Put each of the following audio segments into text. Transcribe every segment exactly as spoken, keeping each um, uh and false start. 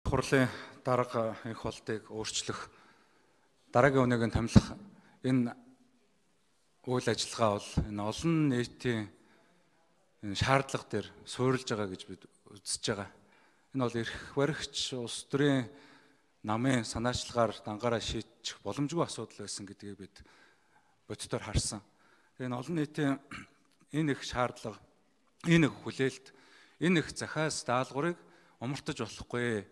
Хурлын дарга их болтыг өөрчлөх дараагийн үнэгийг томилох энэ үйл ажиллагаа бол энэ олон нийтийн шаардлага дээр суурилж байгаа гэж бид үзэж байгаа. Энэ бол эрх баригч улс төрийн намын санаачлагаар дангаараа шийдчих боломжгүй асуудал байсан гэдгийг бид боддоор харсан. Энэ олон нийтийн энэ их шаардлага, энэ их хүлээлт, энэ их захиас даалгаврыг умартаж болохгүй.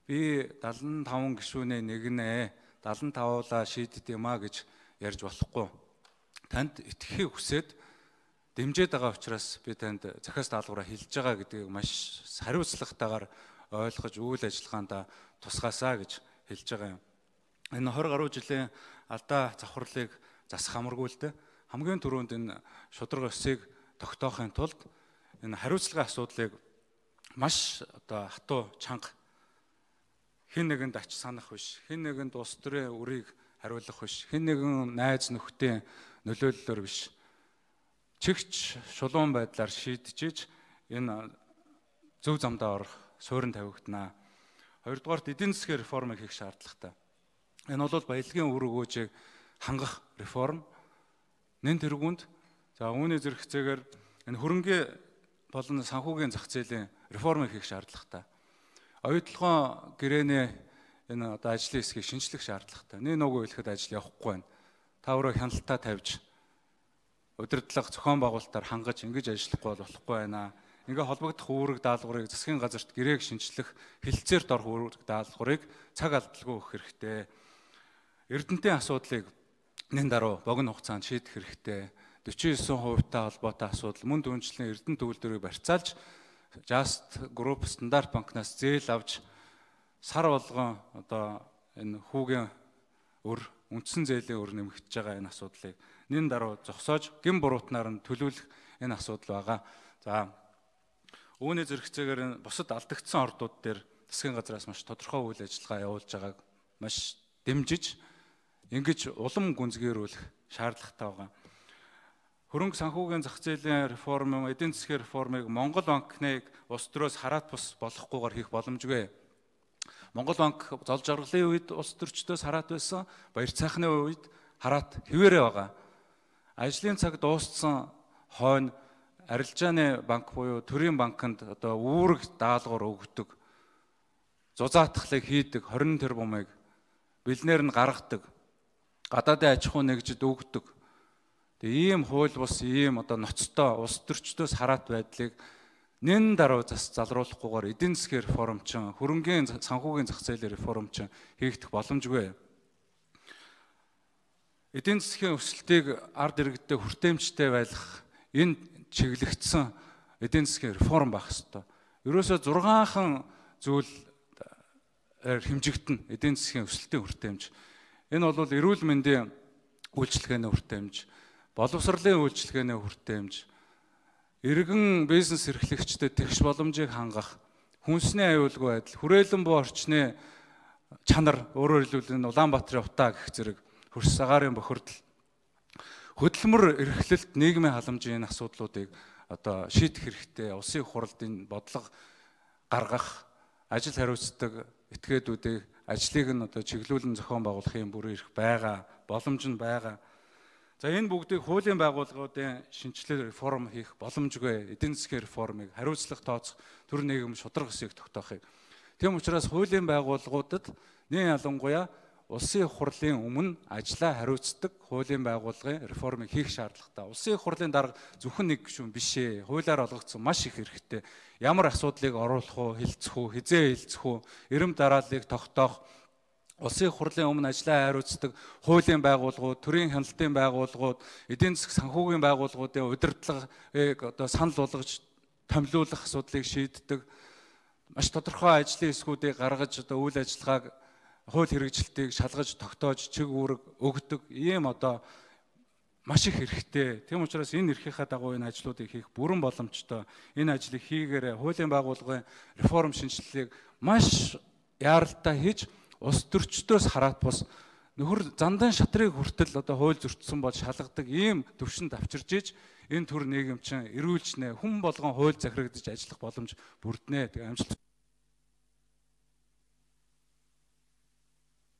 Би даалан таван гишүүний нэг нэ даалан тавуулаа шийдэд юм а гэж ярьж болохгүй. Танд итгэхийг хүсээд дэмжиж байгаа учраас би танд захиас даалгавраа хэлж байгаа гэдгийг маш хариуцлагатайгаар ойлгож үйл ажиллагаанд тусгаасаа гэж хэлж байгаа юм. Энэ двадцать гаруй жилийн алдаа завхарлыг засах амаргүй л дээ. Хамгийн түрүүнд энэ шударга өсийг тогтоохын тулд энэ хариуцлагын асуудлыг маш одоо хатуу чанга хэн нэгэнд ач санах биш, хэн нэгэнд улс төрийн үрийг хариулах биш, хэн нэгэн найз нөхдийн нөлөөллөөр биш. Чигч шулуун байдлаар шийдчихэж энэ зөв замдаа орох суурин тавигдана. Хоёрдугаарт эдийн засгийн реформыг хийх шаардлагатай. Энэ бол баялагын үр өгөөжийг хангах реформ. Нэн тэргуунд за үүний зэрэг хэсгээр энэ хөрөнгө болон санхүүгийн зах зээлийн реформыг хийх шаардлагатай. Оюутлогоо гэрээний энэ одоо ажлын хэсгийг шинжлэх шаардлагатай. Нэг нөгөө хэлэхэд ажил явахгүй байна. Та өөрөө хяналтаа тавьж удирдлага зохион байгуулалтаар хангаж ингэж ажиллахгүй болохгүй байна. Ингээ холбогдох үүрэг даалгаврыг засгийн газарт гэрээг шинжлэх хэлэлцээрт орох үүрэг даалгаврыг цаг алдалгүй өгөх хэрэгтэй. Эрдэнтийн асуудлыг нэн даруй богино хугацаанд шийдэх хэрэгтэй. forty-nine хувьтай холбоотой асуудал мөн дүнжлийн эрдэнэ төвлөрийг барьцаалж Just Group стандарт банкнаас зээл авч сар болгон одоо энэ хүүгийн өр үндсэн зээлийн өр нэмэгдэж байгаа энэ асуудлыг нэн даруй зогсоож гин буруутнаар нь төлөвлөх энэ асуудал байгаа. За үүний зэрэгцээгээр бусад алдагдсан ордууд дээр засгийн газраас маш тодорхой үйл ажиллагаа явуулж байгааг маш дэмжиж ингэж улам гүнзгийрүүлэх шаардлагатай байгаа. Хөрөнгө санхүүгийн зах зээлийн реформ, эдийн засгийн реформыг Монгол банкныг улс төрөөс хараат бус болохгүйгээр хийх боломжгүй. Монгол банк зол жаргалын үед улс төрчдөөс хараат байсан, баяр цайхны үед хараат хэвээрээ байгаа. Ажлын цаг дууссан хойно арилжааны банк буюу төрийн банкнд одоо үүрэг даалгавар өгдөг, зузаатгалыг хийдэг, twenty тэрбумыг бэлнээр нь гаргадаг, гадаадын аж ахуй нэгжид өгдөг. Ийм хууль бус ийм одоо ноцтой улс төрчдөөс хараат байдлыг нэн даруй зас залруулахгүйгээр эдийн засгийн реформчин, хөрөнгөний санхүүгийн зах зээлийн реформчин хийгдэх боломжгүй. Эдийн засгийн өсөлтийг ард иргэдэд хүртээмжтэй байлгах энэ чиглэгдсэн эдийн засгийн реформ байх ёстой. Ерөөсөө зургаанхан зүйл хэмжигдэнэ эдийн засгийн өсөлтийн хүртээмж. Энэ бол эрүүл мэндийн үйлчилгээний хүртээмж, боловсролын үйлчилгээний хүртээмж, иргэн бизнес эрхлэгчдэд тэгш боломжийг хангах, хүнсний аюулгүй байдал, хүрээлэн буй орчны чанар, өөрөөр хэлбэл Улаанбаатарын утаа гэх зэрэг хөрс агаарын бохирдол, хөдөлмөр эрхлэлт, нийгмийн халамжийн асуудлуудыг одоо шийдэх хэрэгтэй. Улсын хурлд энэ бодлого гаргах, ажил хариуцдаг этгээдүүдийг ажлыг нь одоо чиглүүлэн зохион байгуулахын бүр ирэх байгаа, боломж нь байгаа. За энэ бүгдийг хуулийн байгууллагуудын шинжилгээ реформ хийх боломжгүй. Эдийн засгийн реформыг хариуцлага тооцох төр нийгэм шударга ёсыг тогтоохыг. Тийм учраас хуулийн байгууллагуудад нэн ялангуяа улсын хурлын өмнө ажлаа хариуцдаг хуулийн байгууллагын реформыг хийх шаардлагатай. Улсын хурлын дарга зөвхөн нэг гишүүн биш ээ. Хуулиар олгогдсон маш их хэрэгтэй. Ямар асуудлыг оруулах уу, хэлцэх үү, хизээ хэлцэх үү, эрэм дарааллыг тогтоох, улсын хурлын өмнө ажлаа хариуцдаг хуулийн байгууллагууд, төрийн хяналтын байгууллагууд, эдийн засгийн санхүүгийн байгууллагуудын удирдлагыг одоо санал болгож томилуулах асуудлыг шийддэг, маш тодорхой ажлын хэсгүүдийг гаргаж одоо үйл ажиллагааг, хууль хэрэгжилтийг шалгаж тогтоож чиг үүрэг өгдөг ийм одоо маш их хэрэгтэй. Тийм учраас энэ эрхийнхаа дагуу энэ ажлуудыг хийх бүрэн боломжтой. Энэ ажлыг хийгээрээ хуулийн байгууллагын реформ шинжилгээг маш яаралтай хийж улс төрчдөөс хараат бус нөхөр зандан шатрыг хүртэл одоо хууль зөрчсөн бол шалгадаг ийм төвшөнд авчирж иж энэ төр нийгэмчин эрүүлжнэ, хүн болгон хууль захирагдаж ажиллах боломж бүрднэ. Тэгээ амжилт